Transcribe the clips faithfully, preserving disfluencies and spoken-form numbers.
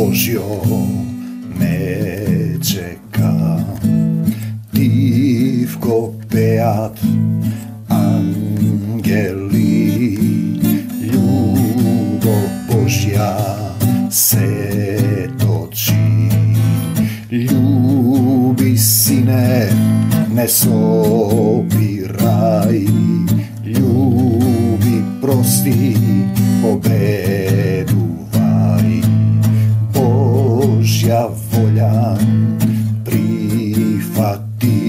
Божјо ме чека. Тивко пеат ангели, љубов Божја се точи. Љуби, сине, не собирај, љуби, прости, победувај. Божја волја прифати,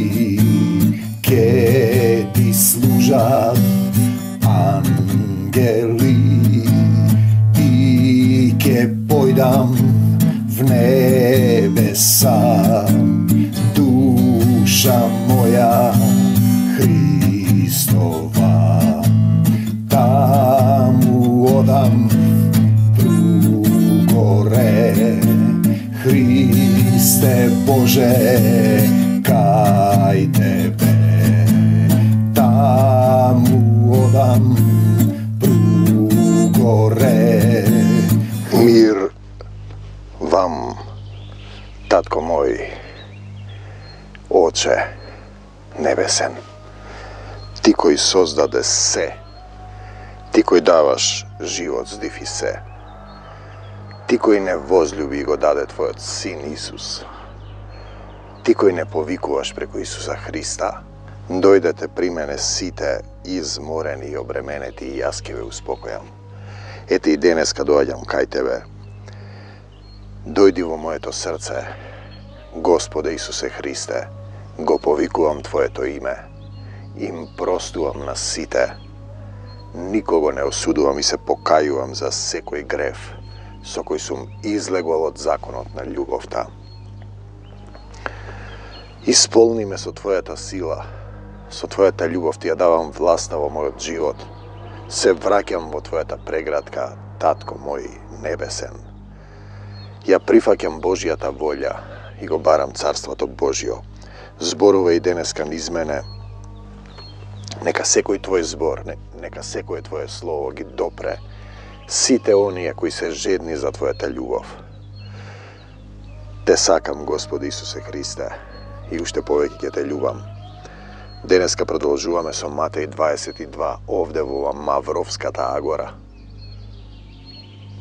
ке ти служат ангели и ке појдам в небеса. Душа моја Христова, таму одам другоре. Христе Боже, кај Тебе, таму одам другоре. Мир вам, татко мој, Оче небесен, ти кој создаде се, ти кој даваш живот, здив и се, ти кој не возлюби и го даде Твојот Син Исус, ти кој не повикуваш преку Исуса Христа, дојдете при мене сите изморени и обременети и јас ќе ве успокојам. Ете и денеска доаѓам кај Тебе. Дојди во моето срце, Господе Исусе Христе, го повикувам Твоето име, им простувам на сите, никого не осудувам и се покајувам за секој грев со кој сум излегол од законот на љубовта. Исполни ме со Твојата сила, со Твојата љубов ти ја давам власта во мојот живот. Се враќам во Твојата преградка, татко мој небесен. Ја прифаќам Божјата волја и го барам Царството Божјо. Зборува и денеска низ мене. Нека секој Твој збор, нека секој Твое слово ги допре сите оние кои се жедни за Твојата љубов. Те сакам, Господи Исусе Христе, и уште повеќе ќе Те љубам. Денеска продолжуваме со Матеј дваесет и два, овде во Мавровската агора.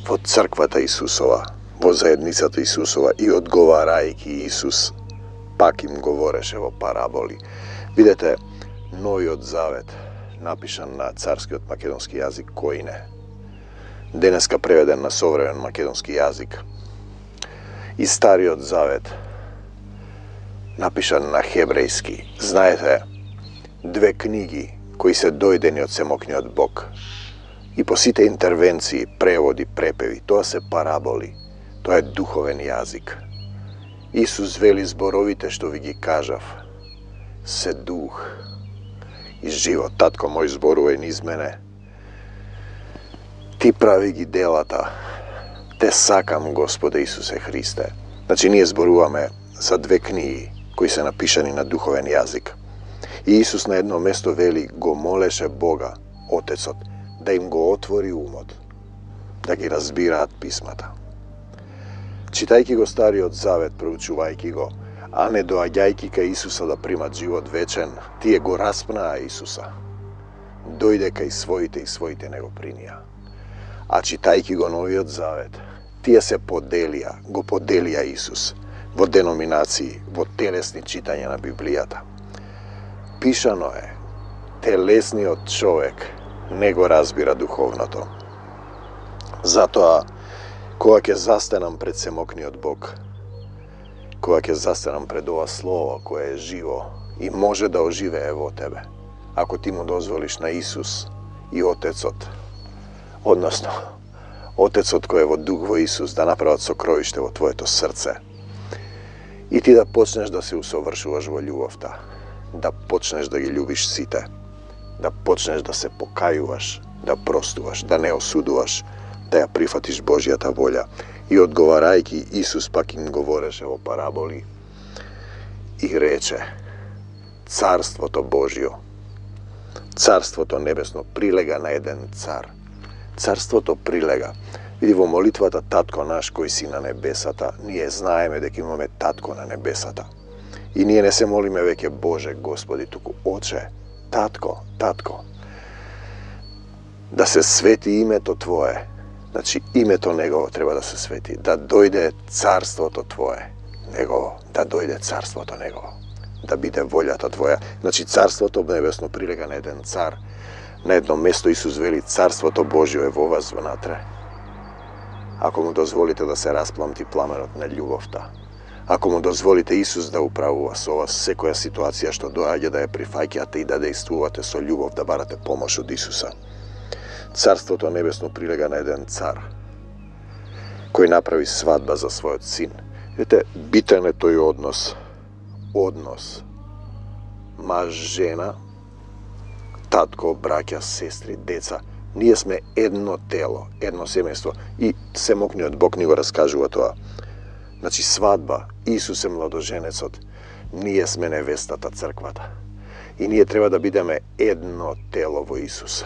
Во црквата Исусова, во заедницата Исусова, и одговарајќи Исус, пак им говореше во параболи. Видете, Новиот Завет, напишан на царскиот македонски јазик Коине, денеска преведен на современ македонски јазик. И Стариот Завет, напишан на хебрејски. Знаете, две книги кои се дојдени од семокниот Бог. И по сите интервенции, преводи, препеви, тоа се параболи, тоа е духовен јазик. Исус вели зборовите што ви ги кажав, се дух и живот. Татко мој, зборувај низ мене. Ти прави ги делата. Те сакам, Господе Исусе Христе. Значи, ние зборуваме за две книги кои се напишани на духовен јазик. И Исус на едно место вели, го молеше Бога, Отецот, да им го отвори умот, да ги разбираат писмата. Читајќи го Стариот Завет, проучувајќи го, а не доаѓајќи кај Исуса да примат живот вечен, тие го распнаа Исуса. Дојде кај своите и своите не го принија. А читајќи го Новиот Завет, тие се поделија, го поделија Исус во деноминации, во телесни читања на Библијата. Пишано е, телесниот човек не го разбира духовното. Затоа, кога ќе застанам пред семокниот Бог, кога ќе застанам пред ова Слово кое е живо и може да оживее во тебе, ако ти му дозволиш на Исус и Отецот, односно, Отецот кој е во дух во Исус, да направат сокровиште во твоето срце, и ти да почнеш да се усовршуваш во љубовта, да почнеш да ги љубиш сите, да почнеш да се покајуваш, да простуваш, да не осудуваш, да ја прифатиш Божјата волја. И одговарајќи, Исус пак им говореше во параболи и рече: Царството Божјо, Царството небесно прилега на еден цар. Царството прилега. Види, во молитвата Татко наш кој си на небесата, ние знаеме дека имаме Татко на небесата. И ние не се молиме веќе Боже, Господи, туку Оче, Татко, Татко. Да се свети името Твое. Значи, името Негово треба да се свети. Да дојде царството Твое. Негово. Да дојде царството Негово. Да биде волјата Твоја. Значи, царството небесно прилега на еден цар. На едно место Исус вели, царството Божјо е во вас внатре. Ако му дозволите да се распламти пламенот на љубовта. Ако му дозволите Исус да управува со вас секоја ситуација што доаѓа, да ја прифаќате и да действувате со љубов, да барате помош од Исуса. Царството небесно прилега на еден цар кој направи свадба за својот син. Видите, битен е тој однос. Однос. Маж, жена, татко, браќа, сестри, деца. Ние сме едно тело, едно семејство. И семокниот Бог ни го раскажува тоа. Значи, свадба, Исус е младоженецот, ние сме невестата, црквата. И ние треба да бидеме едно тело во Исус.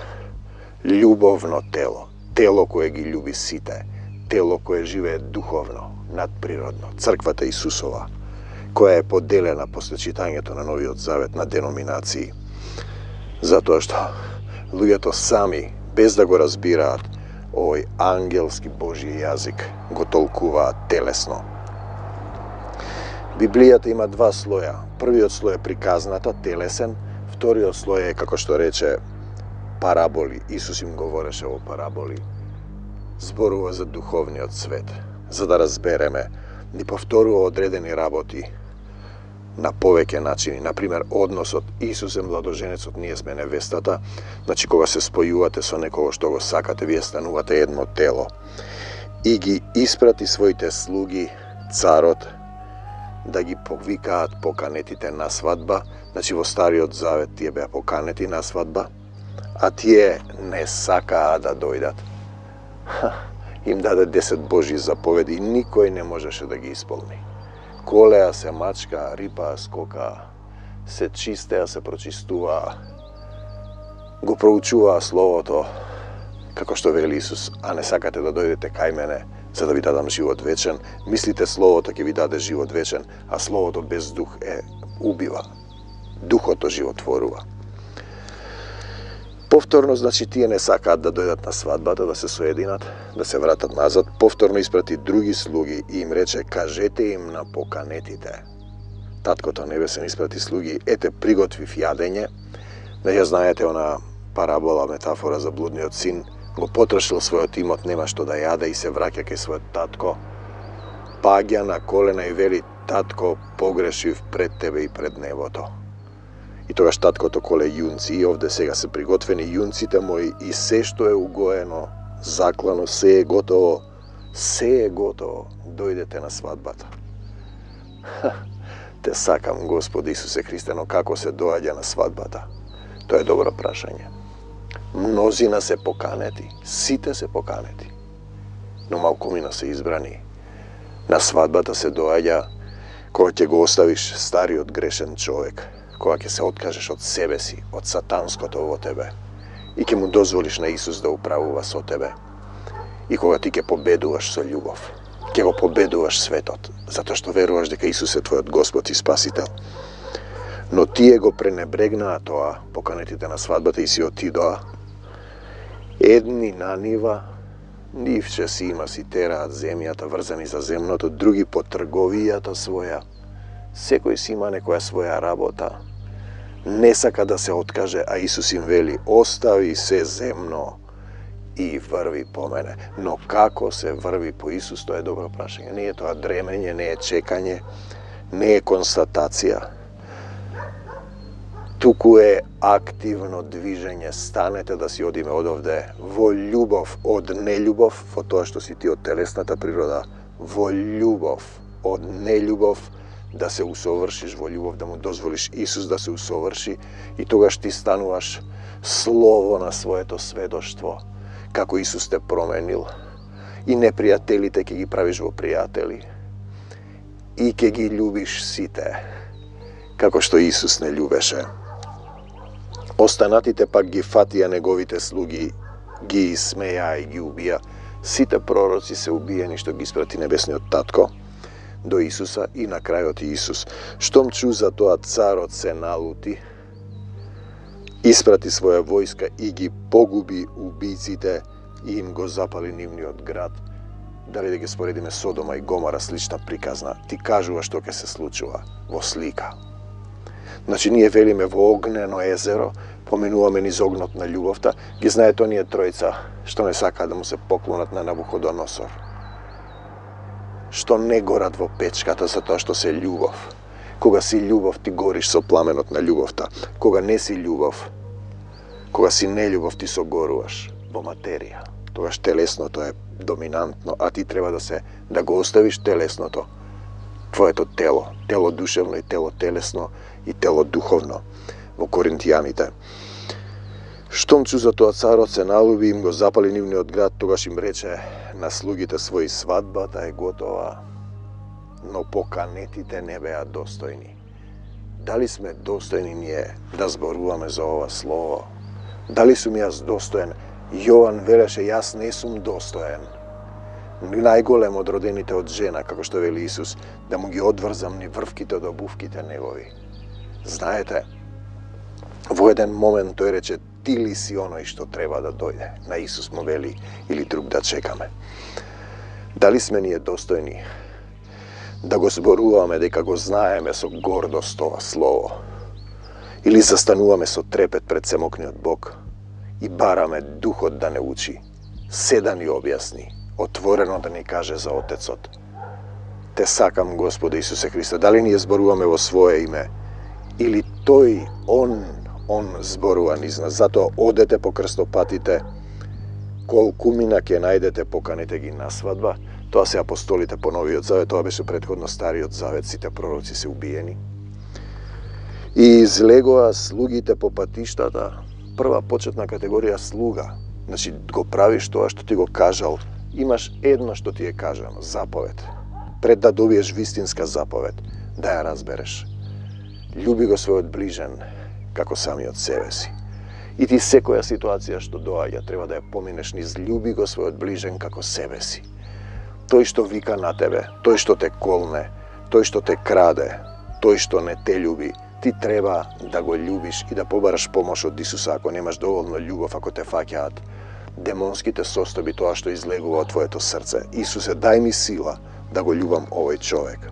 Љубовно тело, тело кое ги љуби сите, тело кое живее духовно, надприродно, црквата Исусова, која е поделена после читањето на Новиот Завет на деноминации. Затоа што луѓето сами, без да го разбираат, овој ангелски Божји јазик го толкуваат телесно. Библијата има два слоја. Првиот слој е приказната, телесен, вториот слој е, како што рече, параболи. Исус им говореше во параболи. Зборува за духовниот свет, за да разбереме, ни повторува одредени работи на повеќе начини. Например, односот Исус е младоженецот, ние сме невестата. Значи, кога се спојувате со некого што го сакате, вие станувате едно тело. И ги испрати своите слуги, царот, да ги повикаат поканетите на свадба. Значи, во Стариот Завет тие беа поканети на свадба, а тие не сакаа да дојдат. Ха, им даде десет Божји заповеди и никој не можеше да ги исполни. Колеа се мачка, рипаа скока, се чистеа, се прочистуваа, го проучуваа Словото, како што вели Исус, а не сакате да дојдете кај мене, за да ви дадам живот вечен. Мислите Словото ќе ви даде живот вечен, а Словото без дух е убива. Духото животворува. Повторно, значи, тие не сакаат да дојдат на свадбата, да се соединат, да се вратат назад. Повторно испрати други слуги и им рече, кажете им на поканетите. Таткото небесен испрати слуги, ете, приготвив јадење. Не ја знаете она парабола, метафора за блудниот син, го потрошил својот имот, нема што да јаде и се враќа кај својот татко. Паѓа на колена и вели, татко, погрешив пред тебе и пред небото. И тогаш таткото коле јунци, и овде сега се приготвени јунците мои, и се што е угоено, заклано, се е готово, се е готово, дојдете на свадбата. Ха, те сакам, Господи Исусе Христе, но како се доаѓа на свадбата? Тоа е добро прашање. Мнозина се поканети, сите се поканети, но малкумина се избрани. На свадбата се доаѓа кога ќе го оставиш стариот грешен човек, кога ќе се откажеш од себе си, од сатанското во тебе, и ќе му дозволиш на Исус да управува со тебе. И кога ти ќе победуваш со љубов, ќе го победуваш светот, затоа што веруваш дека Исус е твојот Господ и Спасител. Но тие го пренебрегнаа тоа, поканетите на свадбата, и си отидоа. Едни на нива, нивче си има си тераат земјата, врзани за земното, други по трговијата своја. Секој си има некоја своја работа. Не сака да се откаже, а Исус им вели, остави се земно и врви по мене. Но како се врви по Исус, тоа е добро прашање. Не е тоа дремење, не е чекање, не е констатација. Туку е активно движење. Станете да си одиме одовде во љубов од нељубов, во тоа што си ти од телесната природа, во љубов од нељубов, да се усовршиш во љубов, да му дозволиш Исус да се усоврши, и тогаш ти стануваш слово на своето сведоштво, како Исус те променил, и непријателите ќе ги правиш во пријатели, и ќе ги љубиш сите, како што Исус не љубеше. Останатите пак ги фатија неговите слуги, ги исмеја и ги убија, Сите пророци се убиени што ги испрати небесниот татко до Исуса и на крајот Исус. Штом чу за тоа, царот се налути, испрати своја војска и ги погуби убийците и им го запали нивниот град. Дали да ги споредиме Содома и Гомора, слична приказна, ти кажува што ќе се случува во слика. Значи, ние велиме во огнено езеро, поменуваме низ огнот на љубовта, ги знаете оние тројца што не сакаат да му се поклонат на Навуходоносор, што не горат во печката за тоа што се љубов. Кога си љубов, ти гориш со пламенот на љубовта. Кога не си љубов, кога си нељубов, ти согоруваш во материја. Тогаш телесното е доминантно, а ти треба да се да го оставиш телесното, твоето тело, тело душевно и тело телесно и тело духовно. Во Коринтијаните. Штом чу за тоа, царот се налюби, им го запали нивниот град, тогаш им рече на слугите своји, свадбата е готова, но поканетите не беа достојни. Дали сме достојни ние да зборуваме за ова слово? Дали сум јас достоен? Јован велеше, јас не сум достоен. Најголем од родените од жена, како што вели Исус, да му ги одврзам ни врвките од обувките негови. Знаете, во еден момент тој рече, ти ли си оној што треба да дојде? На Исус му вели, или друг да чекаме. Дали сме ние достојни да го зборуваме, дека го знаеме со гордост ова слово? Или застануваме со трепет пред семокниот Бог и бараме Духот да не учи, се да ни објасни, отворено да ни каже за Отецот? Те сакам, Господе Исусе Христе. Дали ние зборуваме во свое име? Или тој, он, он зборува низ нас? Затоа одете по крстопатите, колку мина ќе најдете, поканете ги на свадба. Тоа се апостолите по Новиот Завет, тоа беше претходно Стариот Завет, сите пророци се убиени. И излегоа слугите по патиштата, прва почетна категорија слуга. Значи, го правиш тоа што ти го кажал. Имаш едно што ти е кажано, заповед. Пред да добиеш вистинска заповед, да ја разбереш. Љуби го својот ближен како самиот себе си. И ти секоја ситуација што доаѓа треба да ја поминеш низ љуби го својот ближен како себе си. Тој што вика на тебе, тој што те колне, тој што те краде, тој што не те љуби, ти треба да го љубиш и да побараш помош од Исуса ако немаш доволно љубов, ако те фаќаат демонските состојби, тоа што излегува од твоето срце. Исусе, дај ми сила да го љубам овој човек.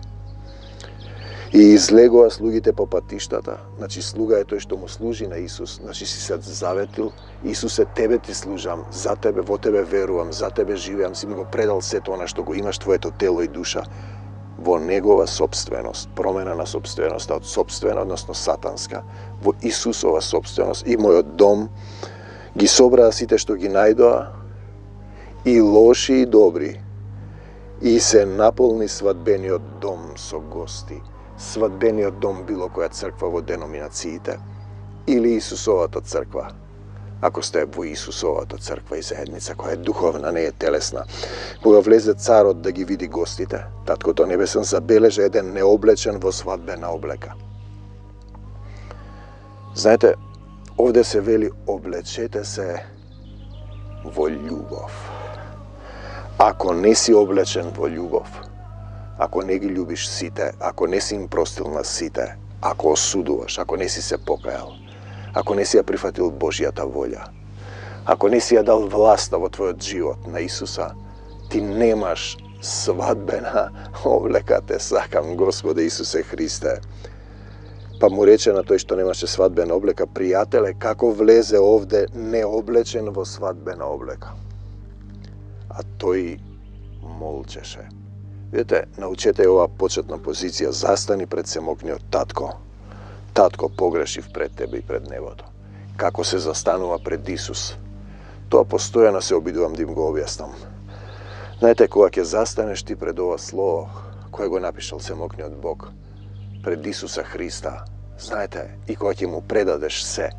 И излегоа слугите по патиштата, значи слуга е тој што му служи на Исус, значи си се заветил, Исусе, тебе ти служам, за тебе, во тебе верувам, за тебе живеам, си ми го предал сето она што го имаш, твоето тело и душа, во негова собственост, промена на собственоста од собствена, односно сатанска, во Исусова собственост. И мојот дом ги собраа сите што ги најдоа, и лоши и добри, и се наполни свадбениот дом со гости. Свадбениот дом било која црква во деноминациите или Исусовата црква, ако сте во Исусовата црква и заедница која е духовна, не е телесна. Кога влезе царот да ги види гостите, Таткото Небесен забележа еден необлечен во свадбена облека. Знаете, овде се вели облечете се во љубов. Ако не си облечен во љубов, ако не ги љубиш сите, ако не си им простил на сите, ако осудуваш, ако не си се покајал, ако не си ја прифатил Божјата волја, ако не си ја дал власта во твојот живот на Исуса, ти немаш свадбена облека. Те сакам, Господе Исусе Христе. Па му рече на тој што немаше свадбена облека, пријателе, како влезе овде необлечен во свадбена облека? А тој молчеше. Видете, научете ова почетна позиција, застани пред семокниот татко. Татко, погрешив пред тебе и пред небото. Како се застанува пред Исус? Тоа постојано се обидувам да им го објаснам. Знаете, кога ќе застанеш ти пред ова слово, кој го напишал семокниот Бог, пред Исуса Христа, знаете, и кога ќе му предадеш се,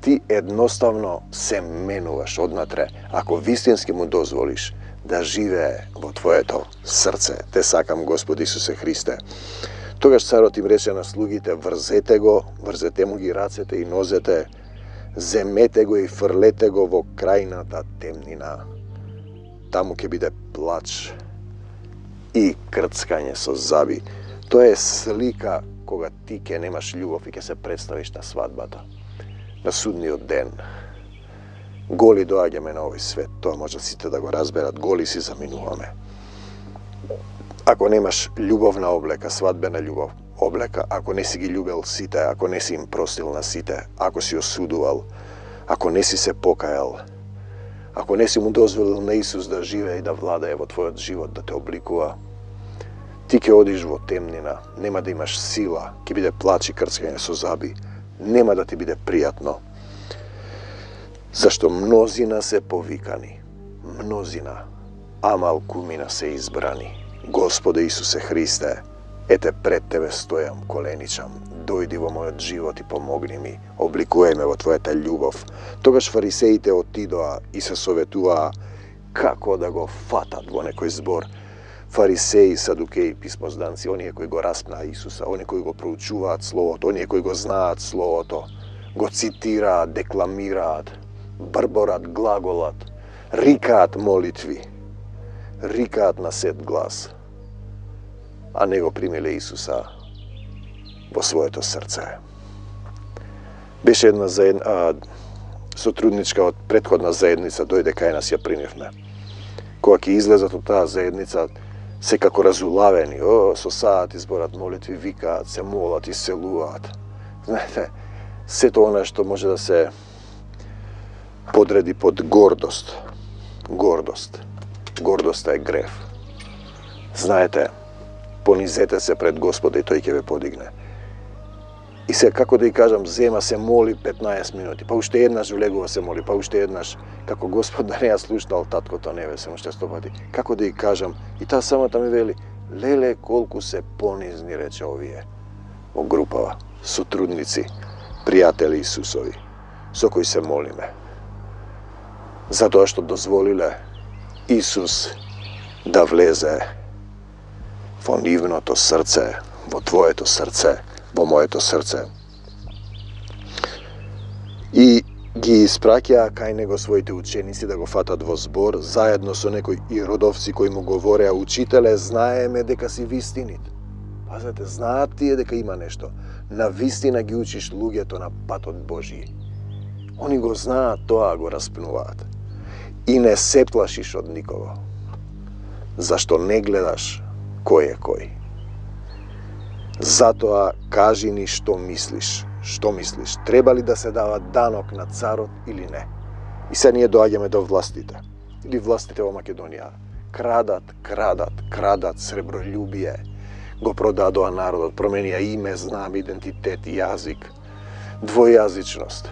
ти едноставно се менуваш однатре, ако вистински му дозволиш да живее во твоето срце. Те сакам, Господи Исусе Христе. Тогаш царот им рече на слугите, врзете го, врзете му ги рацете и нозете, земете го и фрлете го во крајната темнина. таму ќе биде плач и крцкање со заби. Тоа е слика кога ти ќе немаш љубов и ќе се представиш на свадбата, на судниот ден. Голи доаѓаме на овој свет, тоа може сите да го разберат, голи си заминуваме. Ако немаш љубовна облека, свадбена љубов, облека, ако не си ги љубел сите, ако не си им простил на сите, ако си осудувал, ако не си се покајал, ако не си му дозволил на Исус да живее и да владее во твојот живот, да те обликува, ти ќе одиш во темнина, нема да имаш сила, ќе биде плач и крцкање со заби, нема да ти биде пријатно. Зашто мнозина се повикани, мнозина, а малкумина се избрани. Господе Исусе Христе, ете пред Тебе стојам, коленичам, дојди во мојот живот и помогни ми, обликувај ме во Твојата љубов. Тогаш фарисеите отидоа и се советуваа како да го фатат во некој збор. Фарисеи, садукеи, писмозданци, оние кои го распнаа Исуса, оние кои го проучуваат Словото, оние кои го знаат Словото, го цитираат, декламираат, барборат, глаголат, рикаат молитви, рикаат на сет глас, а не го примиле Исуса во своето срце. Беше една заед... а, сотрудничка од претходна заедница, дојде кај нас, ја примивме. Кога ќе излезат од таа заедница, секако разулавени, о, со саат изборат молитви, викаат, се молат, исцелуваат. Знаете, сето она што може да се подреди под гордост. Гордост. Гордоста е грев. Знаете, понизете се пред Господа и тој ќе ве подигне. И се, како да ја кажам, зема се моли петнаесет минути, па уште еднаш влегува се моли, па уште еднаш, како Господ да не ја слушнал таткото небесен уште сто пати. Како да ја кажам, и таа самата ми вели, леле колку се понизни, рече овие, во групава, сотрудници, пријатели Исусови, со кои се молиме. Затоа што дозволиле Исус да влезе во нивното срце, во твоето срце, во моето срце. И ги испраќаа кај него своите ученици да го фатат во збор, заедно со некои иродовци кои му говореа, учителе, знаеме дека си вистинит. Пазете, знаат тие дека има нешто. На вистина ги учиш луѓето на патот Божи. Они го знаат тоа, го распнуваат. И не се плашиш од никого. Зашто не гледаш кој е кој. Затоа кажи ни што мислиш. Што мислиш? Треба ли да се дава данок на царот или не? И се ние доаѓаме до властите. Или властите во Македонија. Крадат, крадат, крадат, сребролюбие. Го продадоа народот, променија име, знам, идентитет, јазик, двојазичност.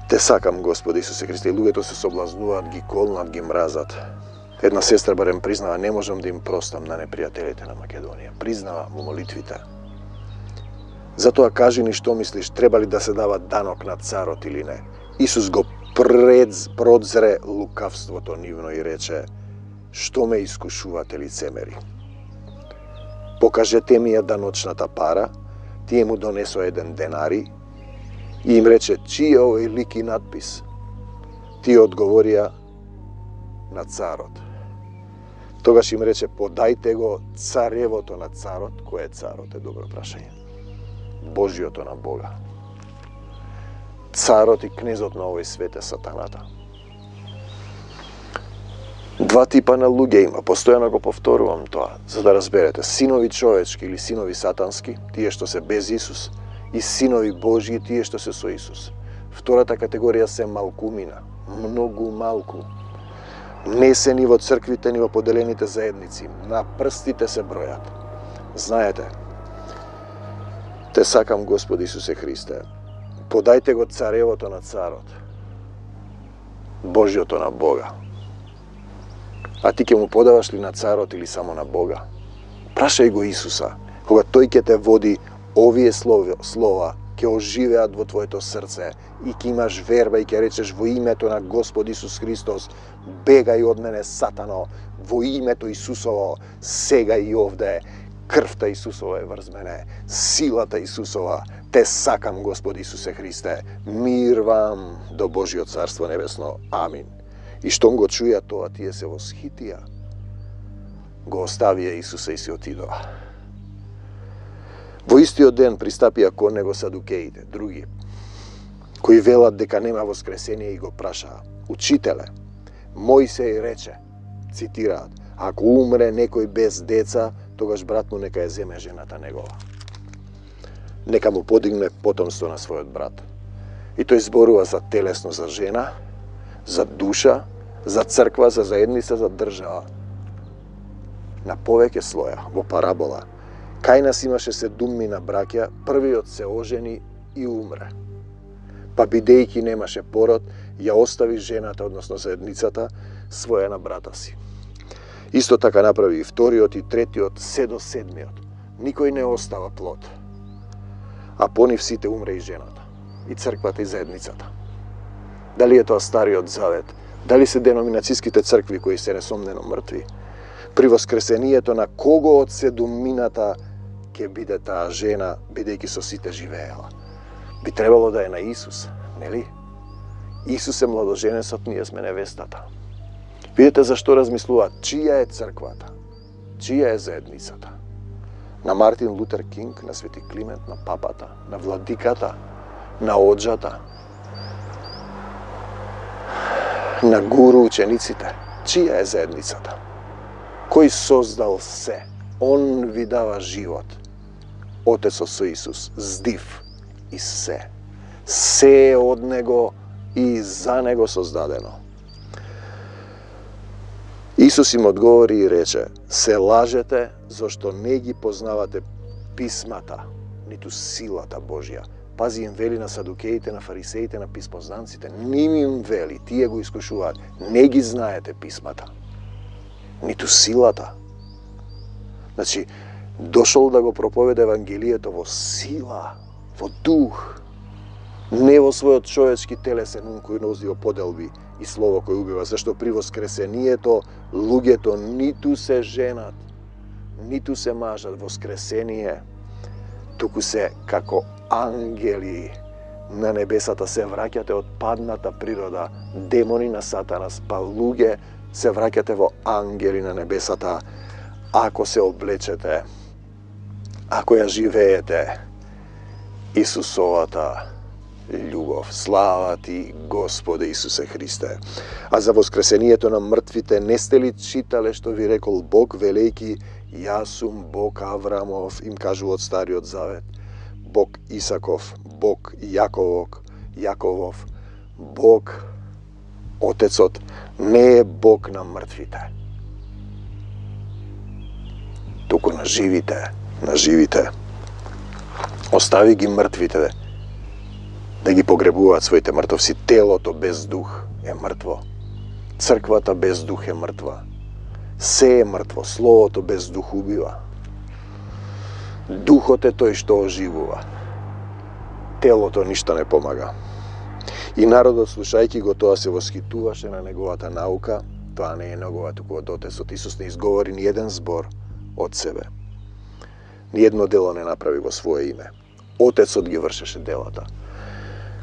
Те сакам, Господи Исусе Христе, и луѓето се соблазнуваат, ги колнат, ги мразат. Една сестра барем признава, не можам да им простам на непријателите на Македонија. Признава во молитвите. Затоа кажи ни што мислиш, треба ли да се дава данок на царот или не? Исус го предз, продзре лукавството нивно и рече, што ме искушувате лицемери? Покажете ми ја даночната пара, тие му донесо еден денари и им рече, чиј е овој лик и надпис? Тие одговорија на царот. Тогаш им рече, подајте го царевото на царот. Кој е царот? Е добро прашање. Божиото на Бога. Царот и кнезот на овој свет е сатаната. Два типа на луѓе има, постојано го повторувам тоа, за да разберете. Синови човечки или синови сатански, тие што се без Исус, и синови Божји, тие што се со Исус. Втората категорија се малкумина, многу малку. Не се ни во црквите, ни во поделените заедници. На прстите се бројат. Знаете, те сакам, Господи Исусе Христе, подајте го царевото на царот, Божјото на Бога. А ти ќе му подаваш ли на царот или само на Бога? Прашај го Исуса, кога тој ќе те води, овие слова, слова ќе оживеат во твоето срце и ќе имаш верба и ќе речеш во името на Господ Исус Христос, бегај од мене, сатано, во името Исусово, сега и овде, крвта Исусова е врз мене, силата Исусова, те сакам, Господи Исусе Христе, мир вам до Божиот Царство Небесно. Амин. И штом го чуја тоа, тие се восхитија. Го оставија Исуса и се отидоа. Во истиот ден пристапија кон него садукеите, други, кои велат дека нема воскресение и го прашаа: Учителе, Мојсей рече, цитираат, ако умре некој без деца, тогаш брат му нека ја земе жената негова. Нека му подигне потомство на својот брат. И тој зборува за телесно за жена, за душа, за црква, за заедница, за држава. На повеќе слоја, во парабола, Кајнас имаше седуммина браќа, првиот се ожени и умре. Па бидејќи немаше пород, ја остави жената, односно заедницата, своја на брата си. Исто така направи и вториот и третиот, се до седмиот. Никој не остава плод. А по нив сите умре и жената, и црквата и заедницата. Дали е тоа Стариот Завет, дали се деноминацијските цркви кои се несомнено мртви, при воскресението на кого од седумината ќе биде таа жена, бидејќи со сите живеела? Би требало да е на Исус, нели? Исус е младоженецот, ние сме невестата. Видете зашто размислуваат, чија е црквата, чија е заедницата? На Мартин Лутер Кинг, на Свети Климент, на папата, на владиката, на оджата, на гуру учениците. Чија е заедницата? Кој создал се? Он ви дава живот. Отецот со Исус, здив и се. Се е од Него и за Него создадено. Исус им одговори и рече: се лажете, зашто не ги познавате писмата, ниту силата Божја. Пази, им вели на садукеите, на фарисеите, на писмознанците. Ним им вели, тие го искушуваат. Не ги знаете писмата, ниту силата. Значи, дошол да го проповеда Евангелието во сила, во дух, не во својот човечки телесен ум кој носи во поделби и слово кој убива, зашто при воскресението луѓето ниту се женат, ниту се мажат. Воскресение, туку се како ангели на небесата, се враќате од падната природа, демони на Сатанас, па луѓе се враќате во ангели на небесата, ако се облечете, ако ја живеете Исусовата љубов. Слава ти, Господе Исусе Христе. А за воскресението на мртвите не сте ли читале што ви рекол Бог, велејки: јас сум Бог Аврамов, им кажува од Стариот Завет, Бог Исаков, Бог Јаковов, Јаковов, Бог Отецот, не е Бог на мртвите, туку на живите, на живите. Остави ги мртвите да ги погребуваат своите мртовци. Телото без дух е мртво. Црквата без дух е мртва. Се е мртво. Словото без дух убива. Духот е тој што оживува. Телото ништо не помага. И народот, слушајќи го тоа, се восхитуваше на неговата наука. Тоа не е негова, туку од Отецот. Исус не изговори ни еден збор од себе. Ни едно дело не направи во свое име. Отецот ги вршеше делата.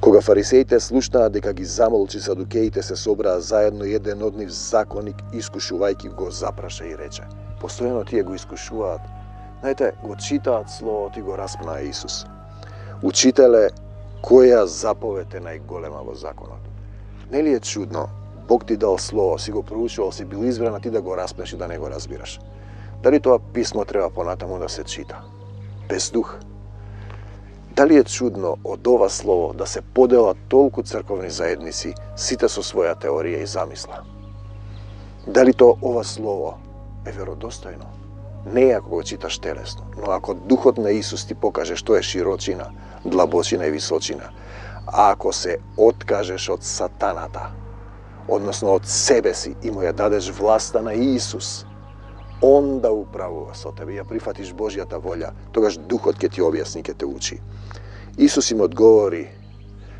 Кога фарисеите слушнаа дека ги замолчи садукеите, се собраа заедно, еден од нив, законник, искушувајќи го, запраша и рече. Постојано тие го искушуваат. Знаете, го читаат словото и го распнаа Исус. Учителе, која заповед е најголема во законот? Нели е чудно? Бог ти дал слово, си го проучувал, си бил избран, а ти да го распнеш и да не го разбираш. Дали тоа писмо треба понатаму да се чита? Без дух? Дали е чудно од ова слово да се поделат толку црковни заедници, сите со своја теорија и замисла? Дали тоа ова слово е веродостојно? Не е ако го читаш телесно, но ако духот на Исус ти покаже што е широчина, длабочина и височина, а ако се откажеш од сатаната, односно од себе си, и му ја дадеш власта на Исус, Он да управува со тебе, ја прифатиш Божјата волја, тогаш духот ќе ти објасни, ќе те учи. Исус им одговори: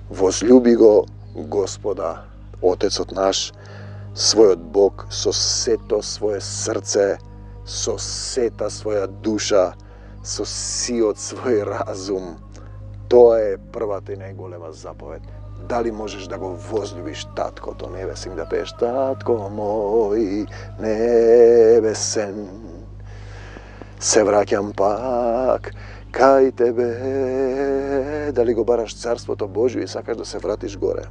возлюби го Господа, Отецот наш, својот Бог, со сето свое срце, со сета своја душа, со сиот свој разум. Тоа е првата и најголема заповед. Дали можеш да го возлюбиш Таткото небесен, да пееш Татко мој небесен, се враќам пак кај тебе. Дали го бараш Царството Божие и сакаш да се вратиш горе?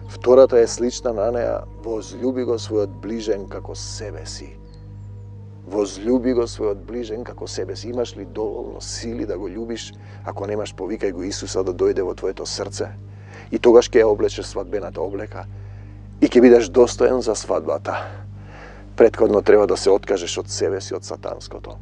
Втората е слична на неа. Возлюби го својот ближен како себе си. Возлюби го својот ближен како себе си. Имаш ли доволно сили да го љубиш? Ако немаш, повикај го Исуса да дојде во твоето срце. И тогаш ќе ја облечеш свадбената облека и ќе бидеш достоен за свадбата. Претходно треба да се откажеш од себе си, од сатанското.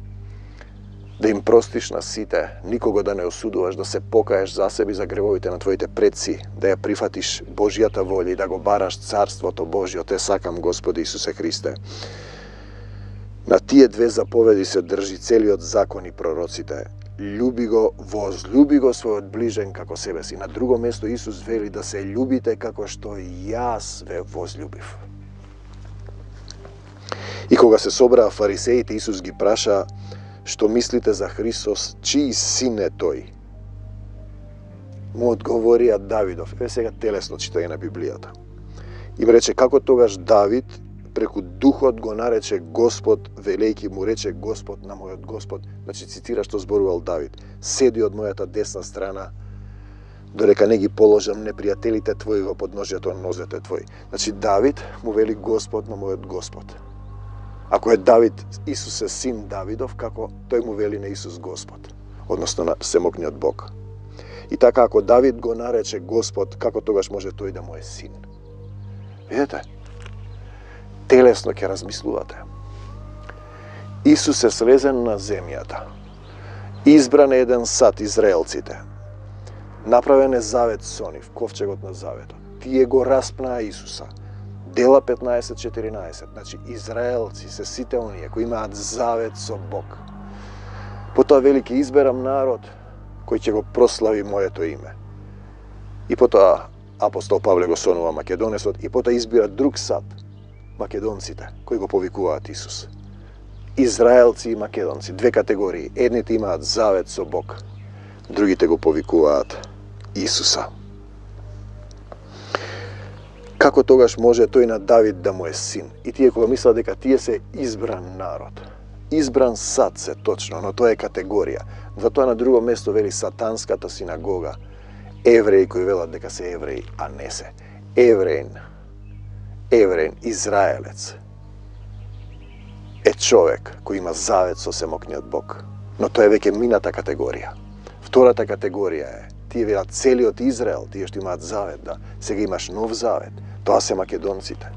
Да им простиш на сите, никого да не осудуваш, да се покаеш за себе и за гревовите на твоите предци, да ја прифатиш Божјата волја и да го бараш Царството Божјо. Те сакам, Господи Исусе Христе. На тие две заповеди се држи целиот закон и пророците. Љуби го, возлюби го својот ближен како себе си. На друго место Исус вели да се љубите како што јас ве возлюбив. И кога се собраа фарисеите, Исус ги праша: што мислите за Христос, чиј син е тој? Му одговорија Давидов. Еве сега телесно читање на Библијата. Им рече како тогаш Давид преку Духот го нарече Господ, велејќи му рече Господ на мојот Господ. Значи цитира што зборувал Давид: седи од мојата десна страна, додека не ги положам непријателите твои во подножјето на нозете твои. Значи Давид му вели Господ на мојот Господ. Ако е Давид, Исус е син Давидов, како тој му вели на Исус Господ, односно на Всемогниот Бог. И така, ако Давид го нарече Господ, како тогаш може тој да му е син? Видете? Телесно ќе размислувате. Исус е слезен на земјата. Избран е еден сад, израелците. Направен е завет со нив, ковчегот на заветот. Тие го распнаа Исуса. Дела петнаесет четиринаесет. Значи, израелци се сите оние кои имаат завет со Бог. Потоа вели ќе изберам народ кој ќе го прослави моето име. И потоа апостол Павле го сонува Македонесот и потоа избира друг сад, македонците, кои го повикуваат Исус. Израелци и македонци, две категории. Едните имаат завет со Бог, другите го повикуваат Исуса. Како тогаш може тој на Давид да му е син? И тие кога мислат дека тие се избран народ, избран сад се точно, но тоа е категорија. Затоа на друго место вели сатанската синагога, евреи кои велат дека се евреи, а не се. Евреин, евреин, израелец, е човек кој има завет со Всемогниот Бог. Но тоа е веќе мината категорија. Втората категорија е, тие велат целиот Израел, тие што имаат завет, да, сега имаш нов завет. Тоа се македонците.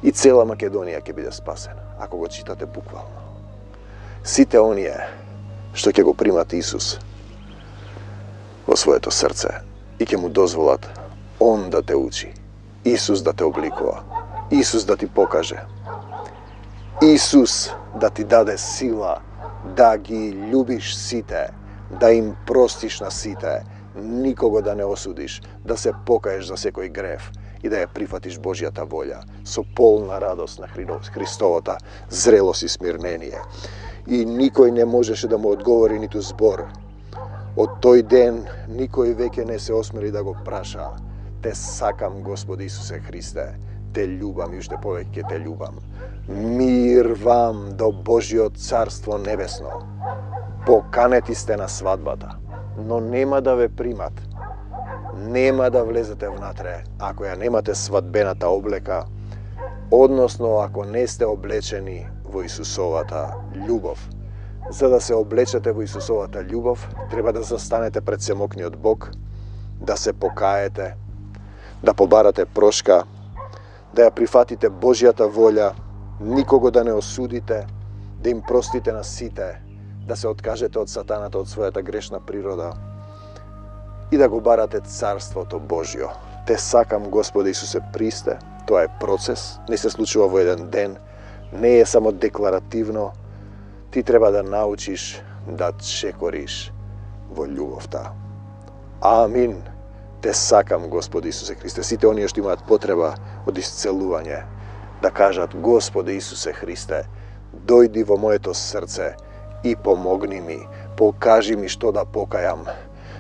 И цела Македонија ќе биде спасена, ако го читате буквално. Сите оние што ќе го примат Исус во своето срце и ќе му дозволат Он да те учи, Исус да те обликува, Исус да ти покаже, Исус да ти даде сила да ги љубиш сите, да им простиш на сите, никого да не осудиш, да се покаеш за секој грев и да ја прифатиш Божјата волја со полна радост на Христовата зрелост и смирнение. И никој не можеше да му одговори ниту збор. Од тој ден никој веќе не се осмели да го праша: те сакам, Господи Исусе Христе, те љубам и уште повеќе те љубам. Мир вам до Божјото Царство Небесно. Поканети сте на свадбата, но нема да ве примат. Нема да влезете внатре ако ја немате свадбената облека, односно ако не сте облечени во Исусовата љубов. За да се облечете во Исусовата љубов, треба да застанете пред Всемогниот Бог, да се покаете, да побарате прошка, да ја прифатите Божјата волја, никого да не осудите, да им простите на сите, да се откажете од сатаната, од својата грешна природа и да го барате Царството Божјо. Те сакам, Господи Исусе Христе, тоа е процес, не се случува во еден ден, не е само декларативно, ти треба да научиш да чекориш во љубовта. Амин. Те сакам, Господи Исусе Христе. Сите оние што имаат потреба од исцелување, да кажат: Господи Исусе Христе, дојди во моето срце и помогни ми, покажи ми што да покајам,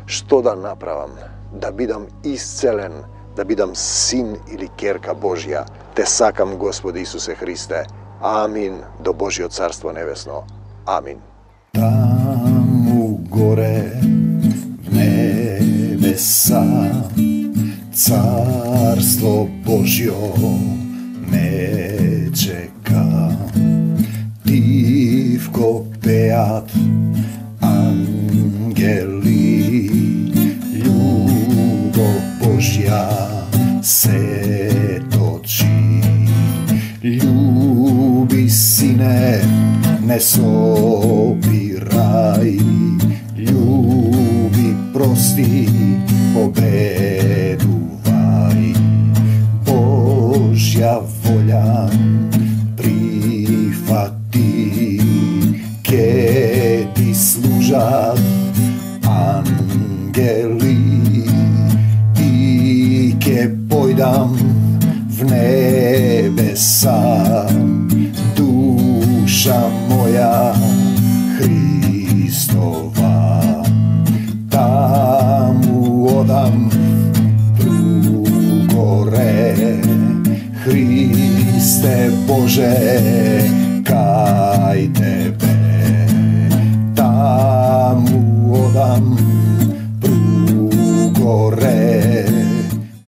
што да направам, да бидам исцелен, да бидам син или керка Божја. Те сакам, Господи Исусе Христе. Амин, до Божјо царство небесно. Амин. Таму горе в небеса царство Божјо ме чека. Тивко пеат ангели, љубов Божја се точи. Љуби, сине, не собирај, љуби, прости, победувај. Божја волја прифати, ке ти служат ангели и ке појдам в небеса. Душа моја Христова, таму одам другоре. Христе Боже,